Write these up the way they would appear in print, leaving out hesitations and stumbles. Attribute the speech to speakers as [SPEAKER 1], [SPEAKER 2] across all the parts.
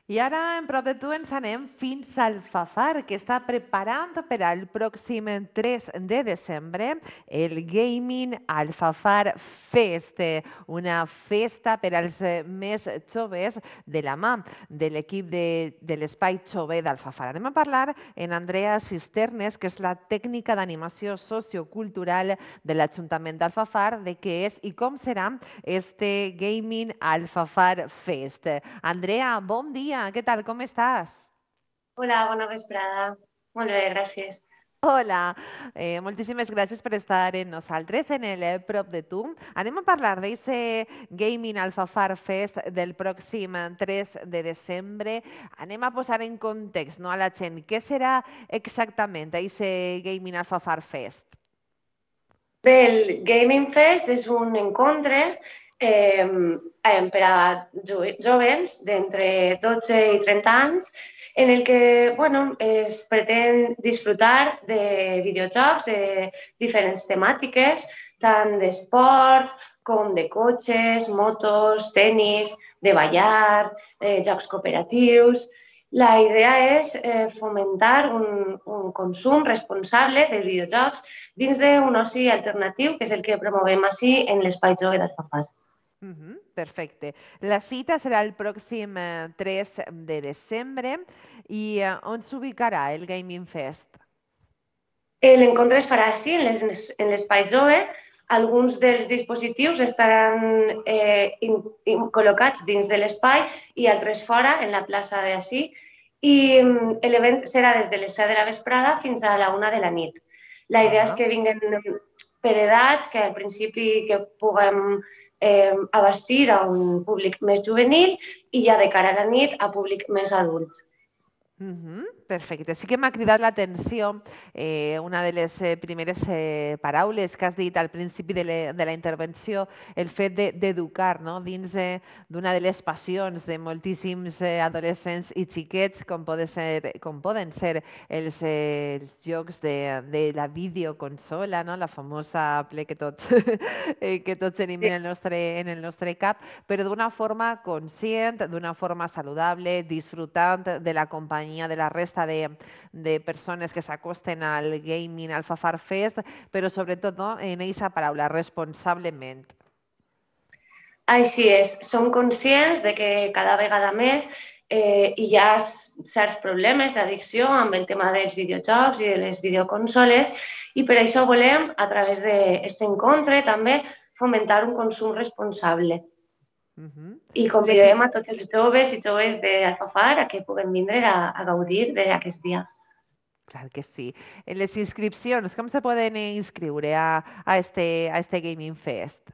[SPEAKER 1] I ara, en prop de tu, ens anem fins al Fafar, que està preparant per al pròxim 3 de desembre el Gaming Alfafar Fest, una festa per als més joves de la mà de l'equip de l'Espai Jove d'Alfafar. Anem a parlar en Andrea Cisternes, que és la tècnica d'animació sociocultural de l'Ajuntament d'Alfafar, de què és i com serà este Gaming Alfafar Fest. Andrea, bon dia, què tal, com estàs?
[SPEAKER 2] Hola, bona vesprada. Molt bé, gràcies.
[SPEAKER 1] Hola, moltíssimes gràcies per estar amb nosaltres en el Prop de Tu. Anem a parlar d'aquest Gaming Alfafar Fest del pròxim 3 de desembre. Anem a posar en context, no, a la gent què serà exactament aquest Gaming Alfafar Fest.
[SPEAKER 2] Bé, el Gaming Fest és un encontre per a jovens d'entre 12 i 30 anys en el que es pretén disfrutar de videojocs de diferents temàtiques, tant d'esports com de cotxes, motos, tenis, de ballar, jocs cooperatius. La idea és fomentar un consum responsable de videojocs dins d'un oci alternatiu, que és el que promovem així en l'Espai Jove d'Alfafar.
[SPEAKER 1] Perfecte. La cita serà el pròxim 3 de desembre i on s'ubicarà el Gaming Fest?
[SPEAKER 2] L'encontre es farà així, en l'Espai Jove. Alguns dels dispositius estaran col·locats dins de l'espai i altres fora, en la plaça d'ací. I l'event serà des de les 7 de la vesprada fins a la 1 de la nit. La idea és que vinguin per edats, que al principi que puguem abastir a un públic més juvenil i ja de cara a la nit a públic més adult.
[SPEAKER 1] Perfecte. Sí que m'ha cridat l'atenció una de les primeres paraules que has dit al principi de la intervenció, el fet d'educar, no? Dins d'una de les passions de moltíssims adolescents i xiquets, com poden ser els jocs de la videoconsola, no? La famosa Play que tots tenim
[SPEAKER 2] Sí.
[SPEAKER 1] en el nostre cap, però d'una forma conscient, d'una forma saludable, disfrutant de la companyia de la resta de persones que s'acosten al Gaming Alfafar Fest, però sobretot, no, en aquesta paraula, responsablement.
[SPEAKER 2] Així és, som conscients de que cada vegada més hi ha certs problemes d'addicció amb el tema dels videojocs i de les videoconsoles i per això volem, a través d'aquest encontre, també fomentar un consum responsable. I
[SPEAKER 1] Les,
[SPEAKER 2] convidem a tots els joves i joves d'Alfafar a que puguem vindre a gaudir d'aquest dia.
[SPEAKER 1] clar que sí. En les inscripcions, com se poden inscriure a este Gaming Fest?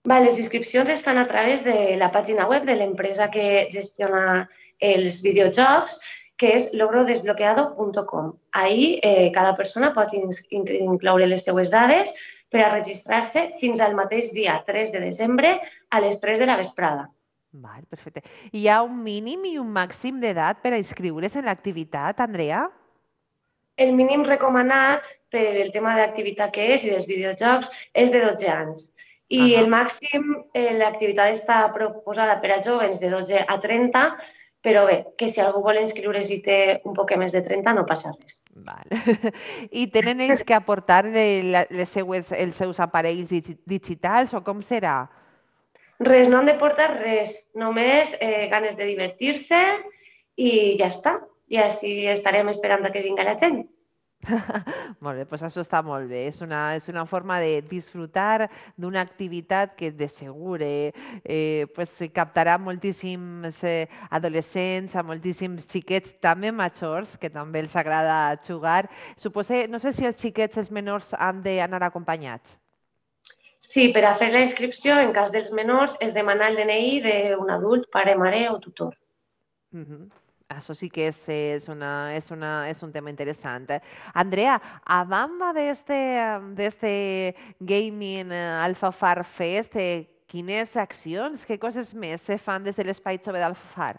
[SPEAKER 2] Les inscripcions es fan a través de la pàgina web de l'empresa que gestiona els videojocs, que és logrodesbloqueado.com. Ahí cada persona pot incloure les seues dades per a registrar-se fins al mateix dia 3 de desembre a les 3 de la vesprada.
[SPEAKER 1] Val, perfecte. Hi ha un mínim i un màxim d'edat per a inscriure's en l'activitat, Andrea?
[SPEAKER 2] El mínim recomanat per el tema d'activitat que és i dels videojocs és de 12 anys. I el màxim, l'activitat està proposada per a joves de 12 a 30, però bé, que si algú vol inscriure's i té un poc més de 30 no passa res.
[SPEAKER 1] Val. I tenen ells que aportar els seus aparells digitals o com serà?
[SPEAKER 2] Res, no han de portar res, només ganes de divertir-se i ja està. I així estarem esperant que vinga la gent.
[SPEAKER 1] Molt bé, doncs això està molt bé. És una forma de disfrutar d'una activitat que de segur pues, captarà moltíssims adolescents, a moltíssims xiquets, també majors, que també els agrada jugar. Supose, no sé si els xiquets, els menors, han d'anar acompanyats.
[SPEAKER 2] Sí, per a fer la inscripció, en cas dels menors, es demana el DNI d'un adult, pare, mare o tutor.
[SPEAKER 1] Això sí que és un tema interessant. Andrea, a banda d'este Gaming Alfafar Fest, quines accions, què coses més se fan des de l'Espai Jove d'Alfafar?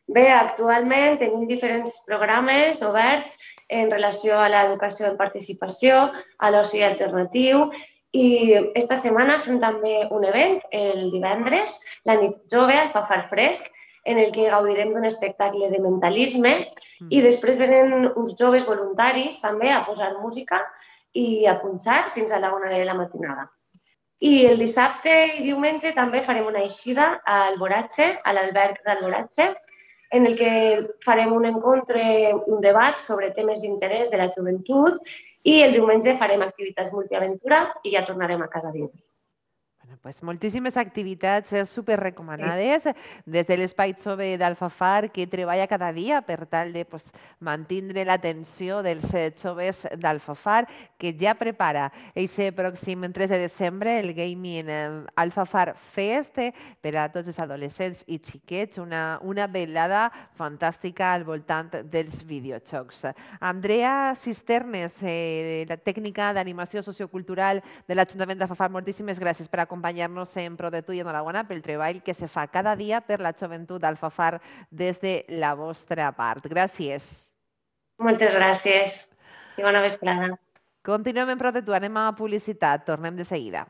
[SPEAKER 2] Bé, actualment tenim diferents programes oberts en relació a l'educació en participació, a l'oci alternatiu i esta setmana fem també un event el divendres, la nit jove al Fafar Fresc, en el que gaudirem d'un espectacle de mentalisme i després venen uns joves voluntaris també a posar música i a punxar fins a la 1 de la matinada. I el dissabte i diumenge també farem una eixida a Alboratge, a l'alberg d'Alboratge, en el que farem un encontre, un debat sobre temes d'interès de la joventut i el diumenge farem activitats multiaventura i ja tornarem a casa dins.
[SPEAKER 1] Pues moltíssimes activitats super recomanades des de l'Espai Jove d'Alfafar, que treballa cada dia per tal de mantindre l'atenció dels joves d'Alfafar, que ja prepara aquest pròxim 3 de desembre el Gaming Alfafar Fest per a tots els adolescents i xiquets, una velada fantàstica al voltant dels videojocs. Andrea Cisternes, la tècnica d'animació sociocultural de l'Ajuntament d'Alfafar, moltíssimes gràcies per acompanyar-nos en Pro de Tu i enhorabona pel treball que se fa cada dia per la joventut d'Alfafar des de la vostra part. Gràcies.
[SPEAKER 2] Moltes gràcies i bona vesprada.
[SPEAKER 1] Continuem en Pro de Tu, anem a publicitat, tornem de seguida.